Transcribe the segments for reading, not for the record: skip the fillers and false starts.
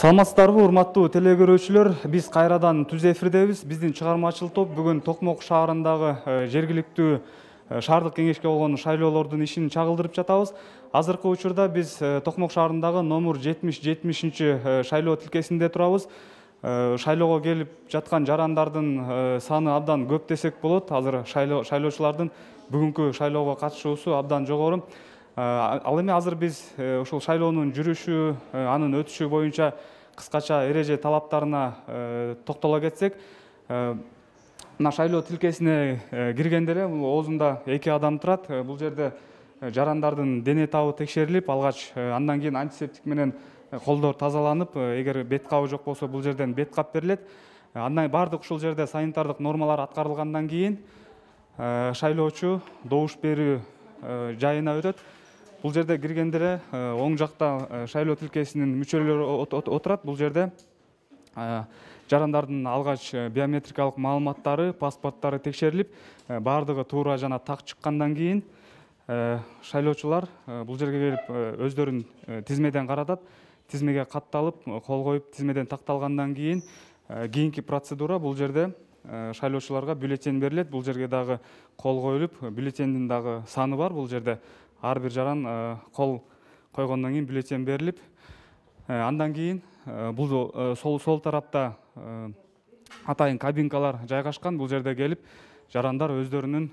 Саламатсыздарбы, урматтуу телекөрүүчүлөр. Биз кайрадан түз эфирдебиз. Биздин чыгармачыл топ бүгүн Токмок шаарындагы жергиликтүү шаардык кеңешке болгон шайлоолордун ишин чагылдырып жатабыз. Азыркы учурда биз Токмок шаарындагы номер 70-70 шайлоо тилкесинде турабыз. Шайлоого келип жаткан жарандардын саны абдан көп десек болот. Азыр шайлоочулардын бүгүнкү шайлоого катышуусу абдан жогору. Ал эми азыр биз ушул шайлоонун жүрүшү, анын өтүшү боюнча кыскача эреже талаптарына токтоло кетсек, мына шайлоо тилкесине киргенде эле оозунда 2 адам турат. Бул жерде жарандардын дене табы текшерилип, алгач андан кийин антисептик менен колдор тазаланып, эгер бет кабы жок болсо бул жерден бет кап берилет. Андан баардык ушул жерде санитардык нормалар аткарылгандан кийин шайлоочу добуш берүү жайына өтөт. Бул жерде киргенде эле оң жакта шайлоо тилкесинин мүчөлөрү отурат. Бул жерде жарандардын алгач биометрикалык маалыматтары, паспорттары текшерилип, баардыгы туура жана так чыккандан кийин шайлоочулар бул жерге келип өздөрүн тизмеден каратат. Тизмеге катталып, кол коюп, тизмеден такталгандан кийин кийинки процедура бул жерде шайлоочуларга бюллетень берилет. Бул жерге дагы кол коюлуп, бюллетендин дагы саны бар. Бул жерде ар бир жаран кол койгондон кийин бюллетень берилип, андан кийин бул сол тарапта атайын кабинкалар жайгашкан. Бул жерде келип жарандар өздөрүнүн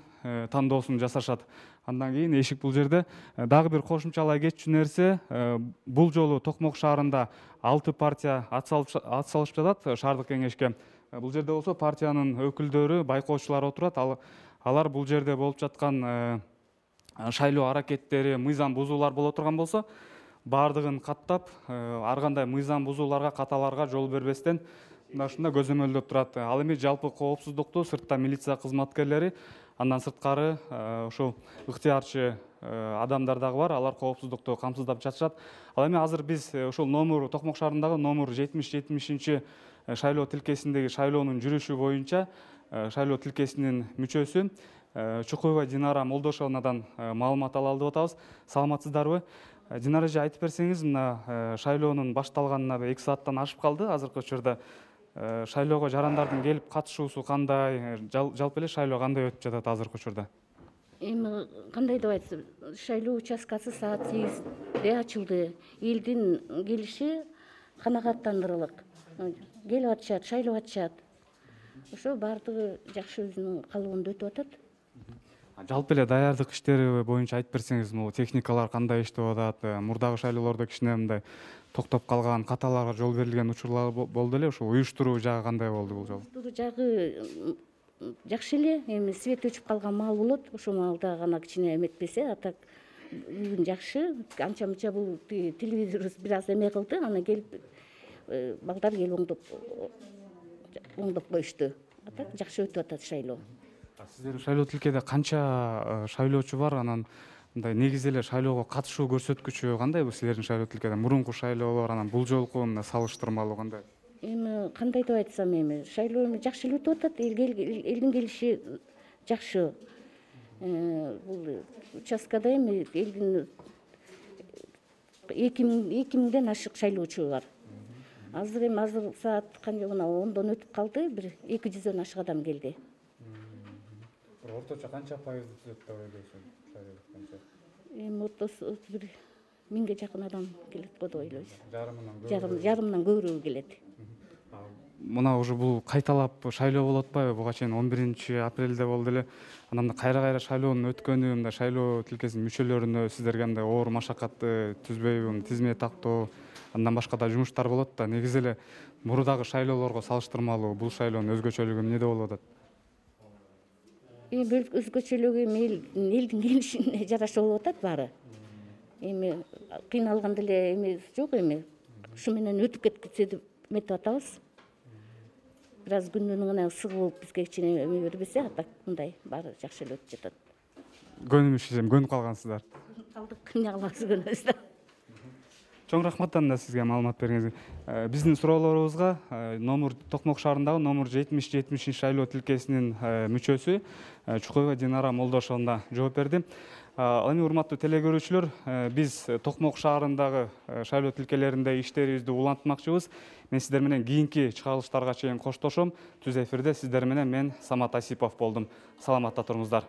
тандоосун жасашат. Андан кийин эшик бул жерде. Дагы бир кошумчалай кетчү нерсе, бул жолу Токмок шаарында 6 партия ат салышып жатат шаардык кеңешке. Бул жерде болсо партиянын өкүлдөрү, байкоочулар отурат. Алар бул жерде болуп жаткан шайлоо аракеттери, мыйзам бузуулар боло турган болсо, баардыгын каттап, ар кандай мыйзам бузууларга, каталарга жол бербестен ушундай көзөмөлдөп турат. Ал эми жалпы коопсуздукту сыртта милиция кызматкерлери, андан сырткары ушул ыктыярчы адамдар дагы бар. Алар коопсуздукту камсыздап жатышат. Ал эми азыр биз ушул Токмок шаарындагы номер 70-70 шайлоо тилкесиндеги шайлоонун жүрүшү боюнча шайлоо тилкесинин мүчөсү Чукуева Динара Молдошовнадан маалымат ала алып атабыз. Саламатсыздарбы? Динара эже, айтып берсеңиз, мына шайлоонун башталганына 2 сааттан ашып калды. Азыркы учурда шайлоого жарандардын келип катышуусу кандай, жалпы эле шайлоо кандай өтүп жатат азыркы учурда? Эми кандай деп айтсам, шайлоо участкасы саат 8-де ачылды. Элдин келиши канагаттандырылык. Келип атышат, шайлап атышат. Ошо баардыгы жакшы өзүнүн калыбында өтүп атат. Жалпы эле даярдык иштери боюнча айтып берсеңиз, могу техникалар кандай иштеп атат? Мурдагы шайлоолордо кичине мындай токтоп калган, каталарга жол берилген учурлар болду эле. Ошо уюштуруу жагы кандай болду бул жолу? Уюштуруу жагы жакшы эле. Эми свет өчүп калган маал болот. Ошол маалда гана кичине эметпесе, а так бүгүн жакшы. Анча-мынча бул телевизор бир аз эме кылды, анан келип балдар келип оңдоп коюшту. А так жакшы өтүп атат шайлоо. Сиздердин шайлоо тилкеде канча шайлоочу бар? Анан мындай негизи эле шайлоого катышуу көрсөткүчү кандай бул силердин шайлоо тилкеде? Мурунку шайлоолор анан бул жолку салыштырмалуу кандай? Эми кандай деп айтсам, эми шайлоо жакшы эле өтүп атат. Элдин келиши жакшы. Бул участкада эми элдин 2000ден ашык шайлоочу бар. Азыр саат канча, мына 10дон өтүп калды, бир 200дөн ашык адам келди. Орточо канча пайызды түзөт деп ойлойсуң шайлоо? Эми ортосу бир 1000ге жакын адам келет го деп ойлойбуз. Жарымынан көбүрөөгү келет. Мына уже бул кайталап шайлоо болуп атпайбы? Буга чейин 11-апрелде болду эле. Анан кайра шайлоонун өткөнү, мындай шайлоо тилкесинин мүчөлөрүнө сиздерге мындай оор машакатты түзбөйбү? Тизме тактоо, андан башка да жумуштар болот да. Негизи эле мурдагы шайлоолорго салыштырмалуу бул шайлоонун өзгөчөлүгү эмнеде болуп атат? Эми өзгөчөлүгү элдин келишине жараша болуп атат баары. Эми кыйналган деле эме жок, эми ушу менен өтүп кеткисе деп эметип атабыз. Бир аз күнүнүн гана ысыгы болуп бизге кичине эме бербесе, а так мындай баары жакшы эле өтүп жатат. Көнүп калгансыздар. Калдык, эмне кылабыз, көнөбүз да. Чоң рахмат анда сизге маалымат бергениңизге. Биздин суроолорубузга Токмок шаарындагы номер 70-70 шайлоо тилкесинин мүчөсү Чукуева Динара Молдошовна жооп берди. Ал эми урматтуу теле көрүүчүлөр, биз Токмок шаарындагы шайлоо тилкелеринде иштерибизди улантмакчыбыз. Мен сиздер менен кийинки чыгарылыштарга чейин коштошом. Түз эфирде сиздер менен мен Самат Асипов болдум. Саламатта туруңуздар.